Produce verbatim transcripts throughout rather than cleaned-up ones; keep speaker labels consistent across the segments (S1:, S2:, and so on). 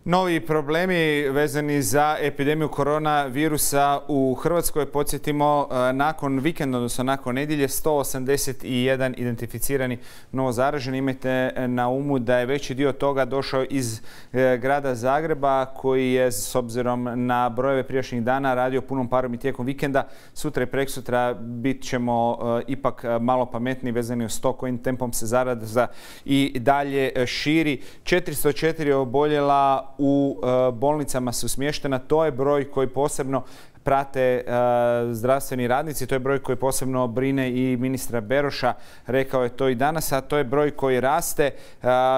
S1: Novi problemi vezani za epidemiju koronavirusa u Hrvatskoj. Podsjetimo, nakon vikenda, odnosno nakon nedjelje, sto osamdeset jedan identificirani novo zaraženi. Imajte na umu da je veći dio toga došao iz grada Zagreba, koji je s obzirom na brojeve prijašnjih dana radio punom parom i tijekom vikenda. Sutra i preksutra bit ćemo ipak malo pametniji vezani uz to kojim tempom se zaraza i dalje širi. četiristo četiri oboljela u bolnicama su smještena. To je broj koji posebno prate zdravstveni radnici. To je broj koji posebno brine i ministra Beroša. Rekao je to i danas, a to je broj koji raste.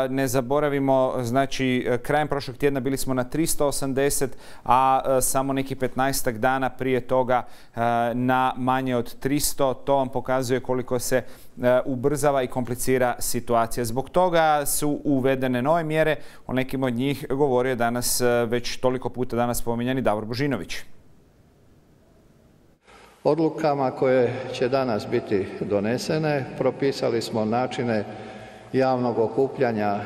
S1: Ne zaboravimo, znači, krajem prošlog tjedna bili smo na tristo osamdeset, a samo neki petnaestak dana prije toga na manje od tristo. To vam pokazuje koliko se ubrzava i komplicira situacija. Zbog toga su uvedene nove mjere. O nekim od njih govorio danas već toliko puta danas spominjani Davor Božinović.
S2: Odlukama koje će danas biti donesene propisali smo načine javnog okupljanja,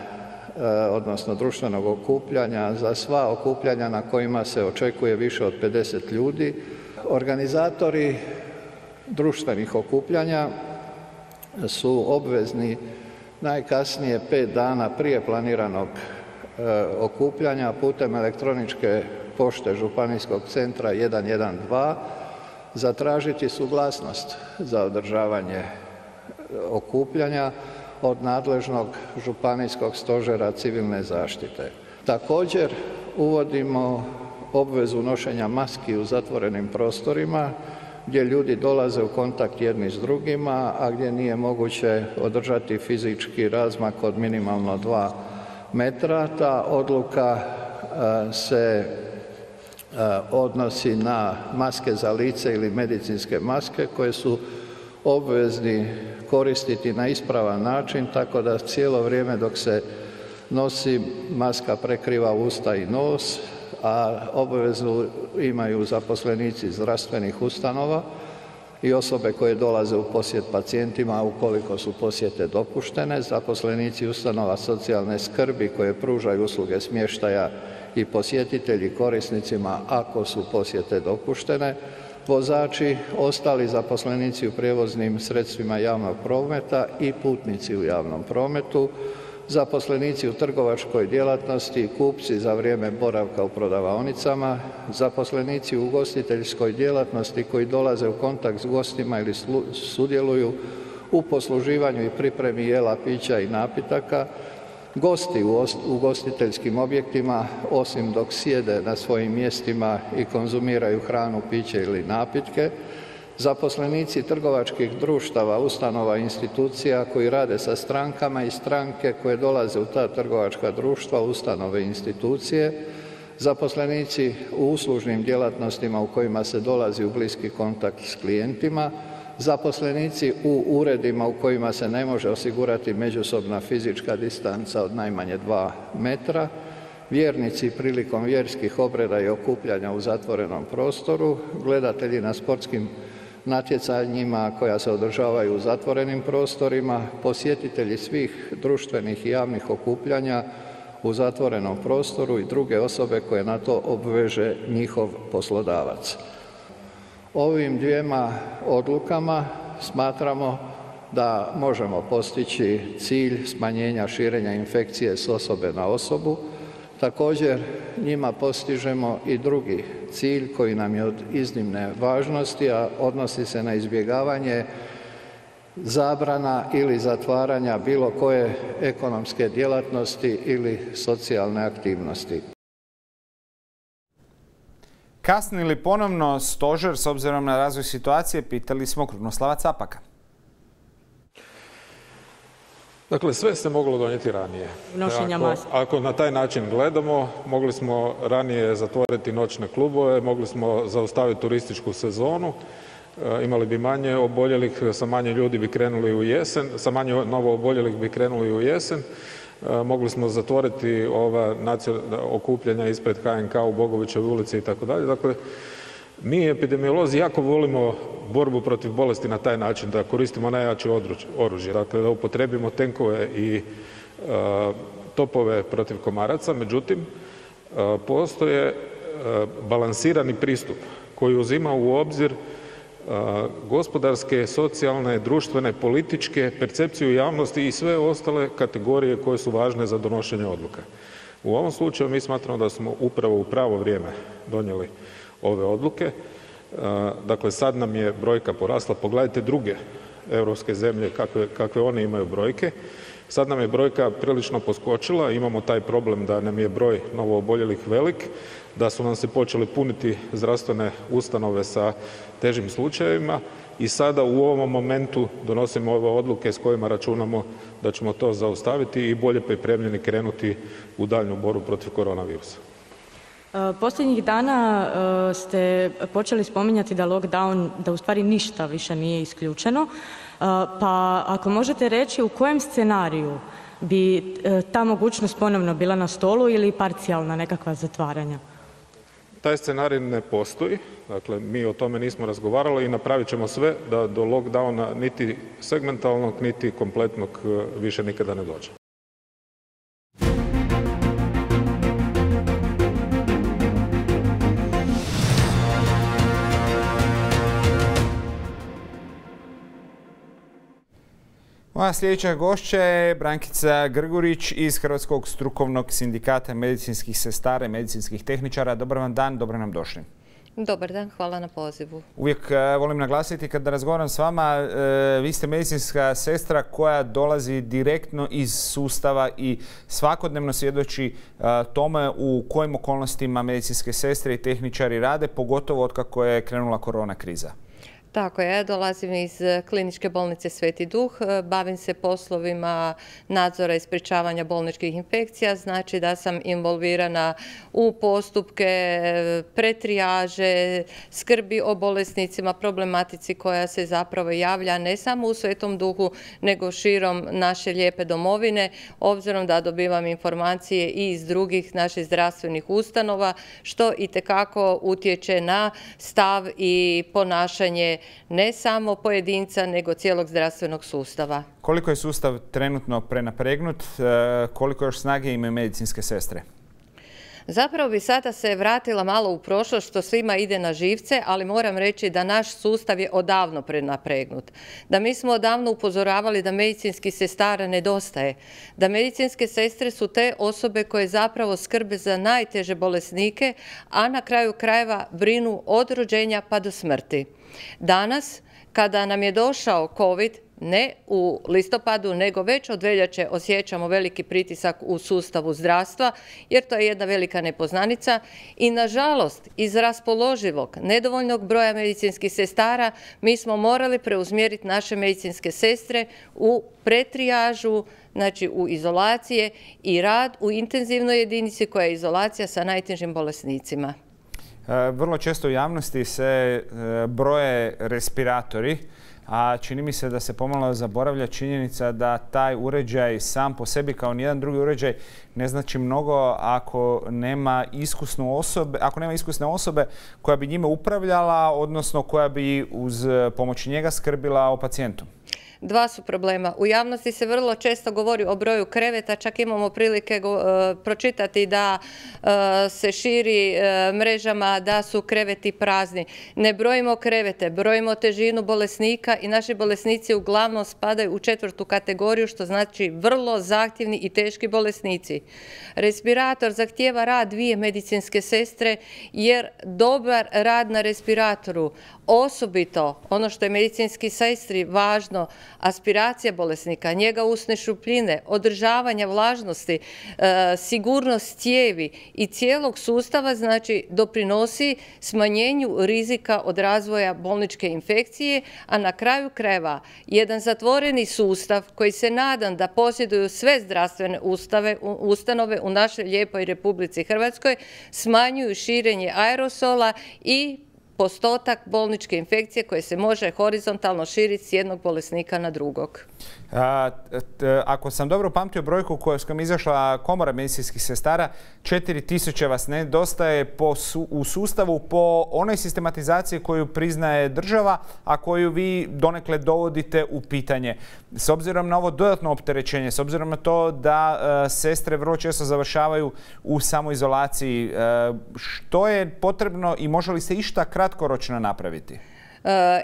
S2: odnosno društvenog okupljanja za sva okupljanja na kojima se očekuje više od pedeset ljudi. Organizatori društvenih okupljanja su obvezni najkasnije pet dana prije planiranog okupljanja putem elektroničke pošte Županijskog centra jedan jedan dva zatražiti suglasnost za održavanje okupljanja od nadležnog Županijskog stožera civilne zaštite. Također uvodimo obvezu nošenja maski u zatvorenim prostorima gdje ljudi dolaze u kontakt jedni s drugima, a gdje nije moguće održati fizički razmak od minimalno dva metra. Ta odluka se odnosi na maske za lice ili medicinske maske koje su obvezni koristiti na ispravan način, tako da cijelo vrijeme dok se nosi maska prekriva usta i nos, a obvezu imaju zaposlenici zdravstvenih ustanova i osobe koje dolaze u posjet pacijentima ukoliko su posjete dopuštene, zaposlenici ustanova socijalne skrbi koje pružaju usluge smještaja i posjetitelji korisnicima ako su posjete dopuštene, vozači, ostali zaposlenici u prijevoznim sredstvima javnog prometa i putnici u javnom prometu, zaposlenici u trgovačkoj djelatnosti, kupci za vrijeme boravka u prodavaonicama, zaposlenici u ugostiteljskoj djelatnosti koji dolaze u kontakt s gostima ili sudjeluju u posluživanju i pripremi jela, pića i napitaka, gosti u ugostiteljskim objektima, osim dok sjede na svojim mjestima i konzumiraju hranu, piće ili napitke, zaposlenici trgovačkih društava, ustanova i institucija koji rade sa strankama i stranke koje dolaze u ta trgovačka društva, ustanove i institucije, zaposlenici u uslužnim djelatnostima u kojima se dolazi u bliski kontakt s klijentima, zaposlenici u uredima u kojima se ne može osigurati međusobna fizička distanca od najmanje dva metra, vjernici prilikom vjerskih obreda i okupljanja u zatvorenom prostoru, gledatelji na sportskim natjecanjima koja se održavaju u zatvorenim prostorima, posjetitelji svih društvenih i javnih okupljanja u zatvorenom prostoru i druge osobe koje na to obveže njihov poslodavac. Ovim dvijema odlukama smatramo da možemo postići cilj smanjenja širenja infekcije s osobe na osobu. Također njima postižemo i drugi cilj koji nam je od iznimne važnosti, a odnosi se na izbjegavanje zabrana ili zatvaranja bilo koje ekonomske djelatnosti ili socijalne aktivnosti.
S1: Kasni li ponovno stožer s obzirom na razvoj situacije, pitali smo Krunoslava Capaka.
S3: Dakle, sve se moglo donijeti ranije. Ako, ako na taj način gledamo, mogli smo ranije zatvoriti noćne klubove, mogli smo zaustaviti turističku sezonu, imali bi manje oboljelih, sa manje ljudi bi krenuli u jesen, sa manje novo oboljelih bi krenuli u jesen. Mogli smo zatvoriti ova okupljanja ispred H N K u Bogovićevoj ulici i tako dalje. Dakle, mi epidemiolozi jako volimo borbu protiv bolesti na taj način da koristimo najjače oružje, dakle da upotrijebimo tenkove i topove protiv komaraca. Međutim, postoje balansirani pristup koji uzima u obzir gospodarske, socijalne, društvene, političke, percepciju javnosti i sve ostale kategorije koje su važne za donošenje odluka. U ovom slučaju mi smatramo da smo upravo u pravo vrijeme donijeli ove odluke. Dakle, sad nam je brojka porasla. Pogledajte druge europske zemlje kakve, kakve one imaju brojke. Sad nam je brojka prilično poskočila, imamo taj problem da nam je broj novooboljelih velik, da su nam se počeli puniti zdravstvene ustanove sa težim slučajevima i sada u ovom momentu donosimo ove odluke s kojima računamo da ćemo to zaustaviti i bolje pripremljeni krenuti u daljnju borbu protiv koronavirusa.
S4: Posljednjih dana ste počeli spominjati da lockdown, da u stvari ništa više nije isključeno, pa ako možete reći u kojem scenariju bi ta mogućnost ponovno bila na stolu ili parcijalna nekakva zatvaranja?
S3: Taj scenarij ne postoji, dakle mi o tome nismo razgovarali i napravit ćemo sve da do lockdowna niti segmentalnog, niti kompletnog više nikada ne dođe.
S1: Moja sljedeća gošća je Brankica Grgurić iz Hrvatskog strukovnog sindikata medicinskih sestara i medicinskih tehničara. Dobar vam dan, dobro nam došli.
S5: Dobar dan, hvala na pozivu.
S1: Uvijek volim naglasiti kada razgovaram s vama, vi ste medicinska sestra koja dolazi direktno iz sustava i svakodnevno svjedoči tome u kojim okolnostima medicinske sestre i tehničari rade, pogotovo otkako je krenula korona kriza.
S5: Tako je, ja dolazim iz kliničke bolnice Sveti Duh, bavim se poslovima nadzora i sprječavanja bolničkih infekcija, znači da sam involvirana u postupke pretrijaže, skrbi o bolesnicima, problematici koja se zapravo javlja ne samo u Svetom Duhu, nego širom naše lijepe domovine, obzirom da dobivam informacije i iz drugih naših zdravstvenih ustanova, što itekako utječe na stav i ponašanje ne samo pojedinca, nego cijelog zdravstvenog sustava.
S1: Koliko je sustav trenutno prenapregnut? Koliko još snage imaju medicinske sestre?
S5: Zapravo bi sada se vratila malo u prošlost, što svima ide na živce, ali moram reći da naš sustav je odavno prenapregnut. Da mi smo odavno upozoravali da medicinskih sestara nedostaje. Da medicinske sestre su te osobe koje zapravo skrbe za najteže bolesnike, a na kraju krajeva brinu od rođenja pa do smrti. Danas, kada nam je došao COVID, ne u listopadu, nego već od veljače osjećamo veliki pritisak u sustavu zdravstva, jer to je jedna velika nepoznanica i nažalost iz raspoloživog nedovoljnog broja medicinskih sestara mi smo morali preusmjeriti naše medicinske sestre u pretrijažu, znači u izolacije i rad u intenzivnoj jedinici koja je izolacija sa najtežim bolesnicima.
S1: Vrlo često u javnosti se broje respiratori, a čini mi se da se pomalo zaboravlja činjenica da taj uređaj sam po sebi kao nijedan drugi uređaj ne znači mnogo ako nema iskusnu osobe, ako nema iskusne osobe koja bi njime upravljala, odnosno koja bi uz pomoć njega skrbila o pacijentu.
S5: Dva su problema. U javnosti se vrlo često govori o broju kreveta, čak imamo prilike pročitati da se širi mrežama da su kreveti prazni. Ne brojimo krevete, brojimo težinu bolesnika i naši bolesnici uglavnom spadaju u četvrtu kategoriju, što znači vrlo zahtjevni i teški bolesnici. Respirator zahtijeva rad dvije medicinske sestre jer dobar rad na respiratoru, osobito ono što je medicinski sestri važno, aspiracija bolesnika, njega usne šupljine, održavanja vlažnosti, e, sigurnost cijevi i cijelog sustava, znači doprinosi smanjenju rizika od razvoja bolničke infekcije, a na kraju krajeva jedan zatvoreni sustav koji se nadam da posjeduju sve zdravstvene ustave, ustanove u našoj lijepoj Republici Hrvatskoj, smanjuju širenje aerosola i postotak bolničke infekcije koje se može horizontalno širiti s jednog bolesnika na drugog.
S1: Ako sam dobro pamtio brojku koju je izašla Komora medicinskih sestara, četiri tisuće vas nedostaje u sustavu po onoj sistematizaciji koju priznaje država, a koju vi donekle dovodite u pitanje. S obzirom na ovo dodatno opterećenje, s obzirom na to da sestre vrlo često završavaju u samoizolaciji, što je potrebno i može li se išta kratkoročno napraviti?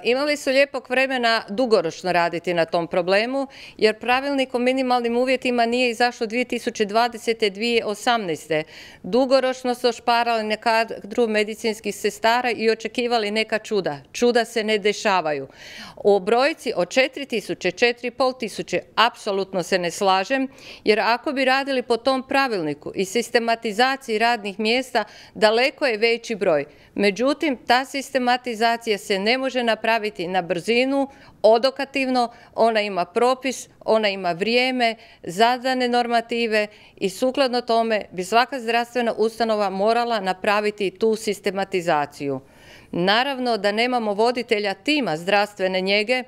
S5: Imali su lijepog vremena dugoročno raditi na tom problemu, jer pravilnik o minimalnim uvjetima nije izašlo dvije tisuće dvadesete. dvije tisuće osamnaeste. Dugoročno su ošparali na kadru medicinskih sestara i očekivali neka čuda. Čuda se ne dešavaju. O brojci od četiri tisuće, četiri i pol tisuće apsolutno se ne slažem, jer ako bi radili po tom pravilniku i sistematizaciji radnih mjesta, daleko je veći broj. Međutim, ta sistematizacija se ne može napraviti na brzinu, odokativno, ona ima propis, ona ima vrijeme, zadane normative i sukladno tome bi svaka zdravstvena ustanova morala napraviti tu sistematizaciju. Naravno da nemamo voditelja tima zdravstvene njege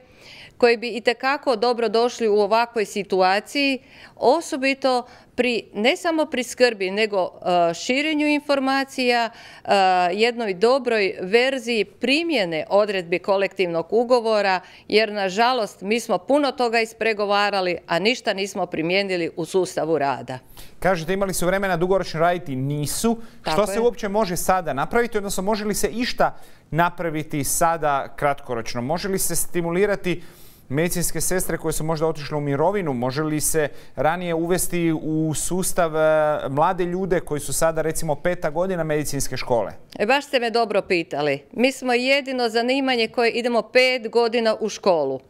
S5: koji bi itekako dobro došli u ovakvoj situaciji, osobito pri, ne samo pri skrbi, nego uh, širenju informacija, uh, jednoj dobroj verziji primjene odredbi kolektivnog ugovora, jer nažalost mi smo puno toga ispregovarali, a ništa nismo primijenili u sustavu rada.
S1: Kažete, imali su vremena dugoročno raditi, nisu. Tako Što je. se uopće može sada napraviti, odnosno može li se išta napraviti sada kratkoročno? Može li se stimulirati medicinske sestre koje su možda otišle u mirovinu? Može li se ranije uvesti u sustav mlade ljude koji su sada recimo peta godina medicinske škole?
S5: E, baš ste me dobro pitali. Mi smo jedino zanimanje koje idemo pet godina u školu.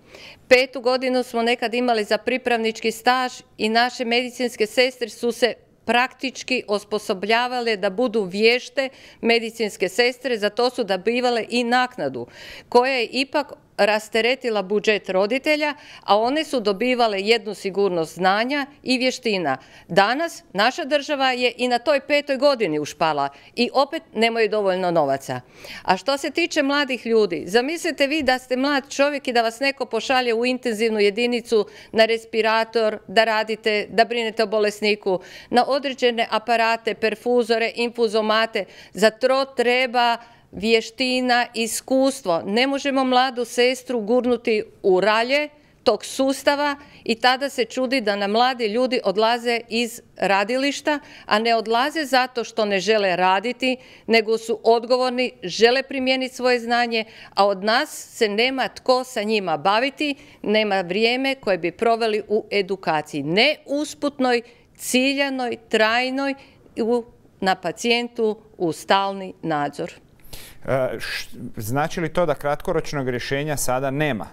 S5: Petu godinu smo nekad imali za pripravnički staž i naše medicinske sestre su se praktički osposobljavale da budu vješte medicinske sestre, za to su dobivale i naknadu, koja je ipak rasteretila budžet roditelja, a one su dobivale jednu sigurnost znanja i vještina. Danas naša država je i na toj petoj godini ušpala i opet nemaju dovoljno novaca. A što se tiče mladih ljudi, zamislite vi da ste mlad čovjek i da vas neko pošalje u intenzivnu jedinicu na respirator, da radite, da brinete o bolesniku, na određene aparate, perfuzore, infuzomate. Za to treba vještina, iskustvo. Ne možemo mladu sestru gurnuti u ralje tog sustava i tada se čudi da nam mladi ljudi odlaze iz radilišta, a ne odlaze zato što ne žele raditi, nego su odgovorni, žele primijeniti svoje znanje, a od nas se nema tko sa njima baviti, nema vrijeme koje bi proveli u edukaciji. Ne usputnoj, ciljanoj, trajnoj, na pacijentu u stalni nadzor.
S1: Znači li to da kratkoročnog rješenja sada nema?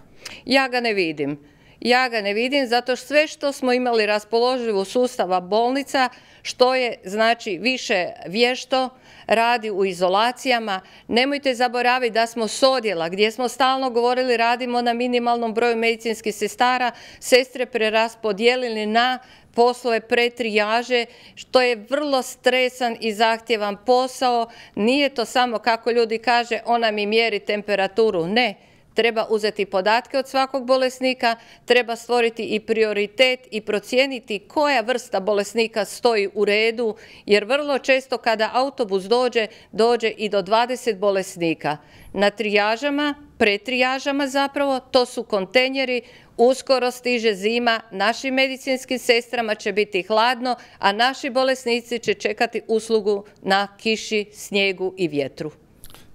S5: Ja ga ne vidim. Ja ga ne vidim zato što sve što smo imali raspoloživo sustava bolnica, što je znači više vješto, radi u izolacijama. Nemojte zaboraviti da smo s odjela gdje smo stalno govorili radimo na minimalnom broju medicinskih sestara, sestre preraspodijelili na poslove pretrijaže, što je vrlo stresan i zahtjevan posao. Nije to samo, kako ljudi kaže, ona mi mjeri temperaturu. Ne. Treba uzeti podatke od svakog bolesnika, treba stvoriti i prioritet i procijeniti koja vrsta bolesnika stoji u redu, jer vrlo često kada autobus dođe, dođe i do dvadeset bolesnika. Na trijažama, pretrijažama zapravo, to su kontejneri, uskoro stiže zima, našim medicinskim sestrama će biti hladno, a naši bolesnici će čekati uslugu na kiši, snijegu i vjetru.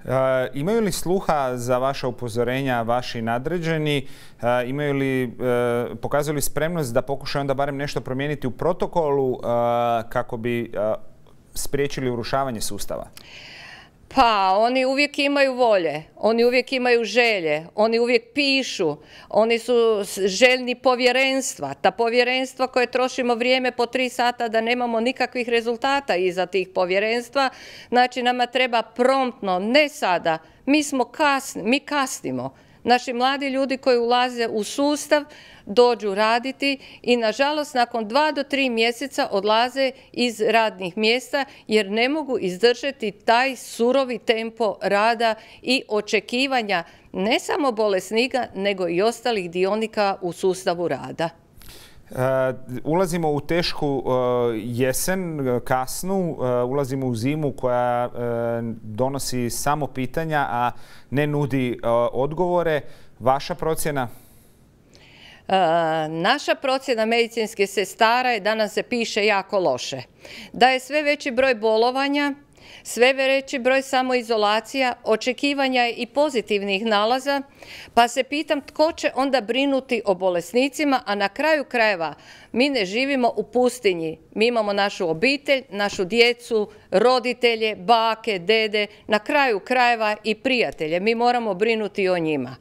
S1: E, imaju li sluha za vaša upozorenja vaši nadređeni? E, imaju li, e, pokazuju li spremnost da pokušaju onda barem nešto promijeniti u protokolu e, kako bi e, spriječili urušavanje sustava?
S5: Pa, oni uvijek imaju volje, oni uvijek imaju želje, oni uvijek pišu, oni su željni povjerenstva. Ta povjerenstva koje trošimo vrijeme po tri sata da nemamo nikakvih rezultata iza tih povjerenstva, znači nama treba promptno, ne sada, mi smo kasni, mi kasnimo. Naši mladi ljudi koji ulaze u sustav dođu raditi i nažalost nakon dva do tri mjeseca odlaze iz radnih mjesta jer ne mogu izdržati taj surovi tempo rada i očekivanja ne samo bolesnika nego i ostalih dionika u sustavu rada.
S1: Ulazimo u tešku jesen, kasnu, ulazimo u zimu koja donosi samo pitanja, a ne nudi odgovore. Vaša procjena?
S5: Naša procjena medicinskih sestara je da nam se piše jako loše. Da je sve veći broj bolovanja, sve veći broj samoizolacija, očekivanja i pozitivnih nalaza, pa se pitam tko će onda brinuti o bolesnicima, a na kraju krajeva mi ne živimo u pustinji. Mi imamo našu obitelj, našu djecu, roditelje, bake, dede, na kraju krajeva i prijatelje. Mi moramo brinuti o njima.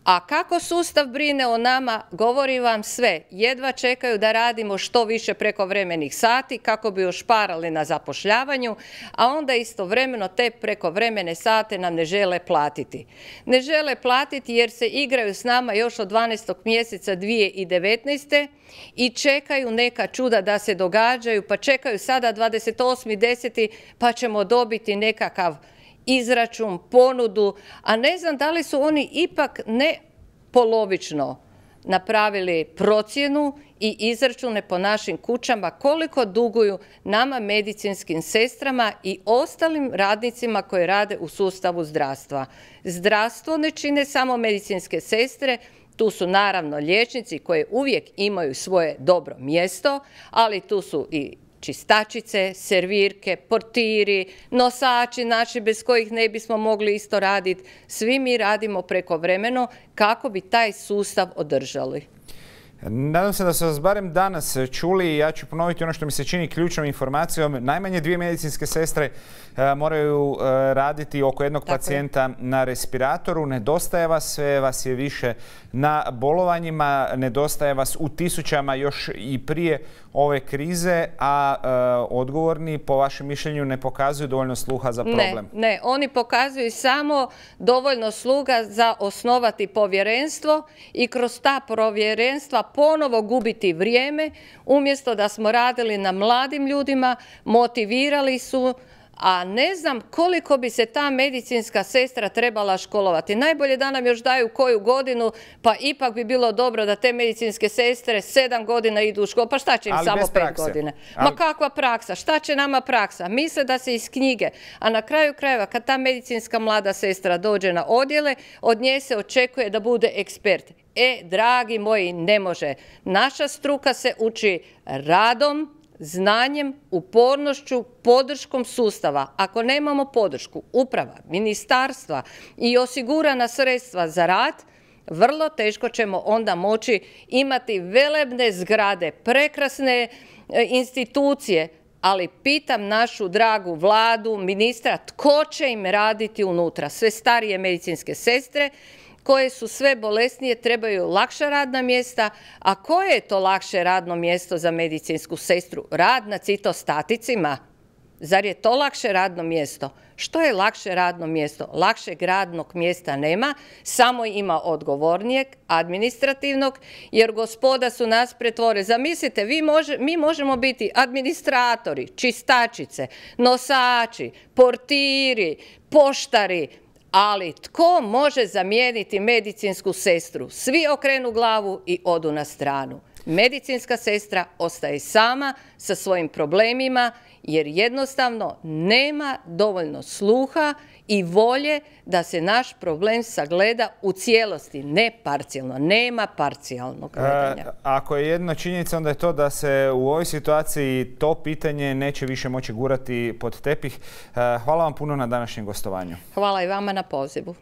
S5: A kako sustav brine o nama, govori vam sve. Jedva čekaju da radimo što više prekovremenih sati kako bi ušparali na zapošljavanju, a onda istovremeno te prekovremene sate nam ne žele platiti. Ne žele platiti jer se igraju s nama još od dvanaestog mjeseca dvije tisuće devetnaeste. i čekaju neka čuda da se događaju, pa čekaju sada dvadeset osmi deseti pa ćemo dobiti nekakav izračun, ponudu, a ne znam da li su oni ipak ne polovično napravili procjenu i izračune po našim kućama koliko duguju nama medicinskim sestrama i ostalim radnicima koji rade u sustavu zdravstva. Zdravstvo ne čine samo medicinske sestre, tu su naravno liječnici koji uvijek imaju svoje dobro mjesto, ali tu su i čistačice, servirke, portiri, nosači, naši bez kojih ne bismo mogli isto raditi. Svi mi radimo prekovremeno kako bi taj sustav održali.
S1: Nadam se da su vas barem danas čuli. Ja ću ponoviti ono što mi se čini ključnom informacijom. Najmanje dvije medicinske sestre moraju raditi oko jednog Tako pacijenta je. na respiratoru. Nedostaje vas, sve vas je više na bolovanjima. Nedostaje vas u tisućama još i prije ove krize, a e, odgovorni po vašem mišljenju ne pokazuju dovoljno sluha za problem.
S5: Ne, ne, oni pokazuju samo dovoljno sluga za osnovati povjerenstvo i kroz ta povjerenstva ponovo gubiti vrijeme, umjesto da smo radili na mladim ljudima, motivirali su, a ne znam koliko bi se ta medicinska sestra trebala školovati. Najbolje da nam još daju koju godinu, pa ipak bi bilo dobro da te medicinske sestre sedam godina idu u školu. Pa šta će im
S1: Ali
S5: samo
S1: pet
S5: prakse. godine? Ali... Ma kakva praksa? Šta će nama praksa? Misle da se iz knjige. A na kraju krajeva, kad ta medicinska mlada sestra dođe na odjele, od nje se očekuje da bude ekspert. E, dragi moji, ne može. Naša struka se uči radom, znanjem, upornošću, podrškom sustava. Ako nemamo podršku uprava, ministarstva i osigurana sredstva za rad, vrlo teško ćemo onda moći imati velebne zgrade, prekrasne institucije, ali pitam našu dragu vladu, ministra, tko će im raditi unutra? Sve starije medicinske sestre koje su sve bolesnije, trebaju lakša radna mjesta. A koje je to lakše radno mjesto za medicinsku sestru? Rad na citostaticima? Zar je to lakše radno mjesto? Što je lakše radno mjesto? Lakšeg radnog mjesta nema, samo ima odgovornijeg, administrativnog, jer gospoda su nas pretvore. Zamislite, vi može, mi možemo biti administratori, čistačice, nosači, portiri, poštari, ali tko može zamijeniti medicinsku sestru? Svi okrenu glavu i odu na stranu. Medicinska sestra ostaje sama sa svojim problemima jer jednostavno nema dovoljno sluha i volje da se naš problem sagleda u cijelosti, ne parcijalno. Nema parcijalnog gledanja.
S1: E, ako je jedna činjenica, onda je to da se u ovoj situaciji to pitanje neće više moći gurati pod tepih. E, hvala vam puno na današnjem gostovanju.
S5: Hvala i vama na pozivu.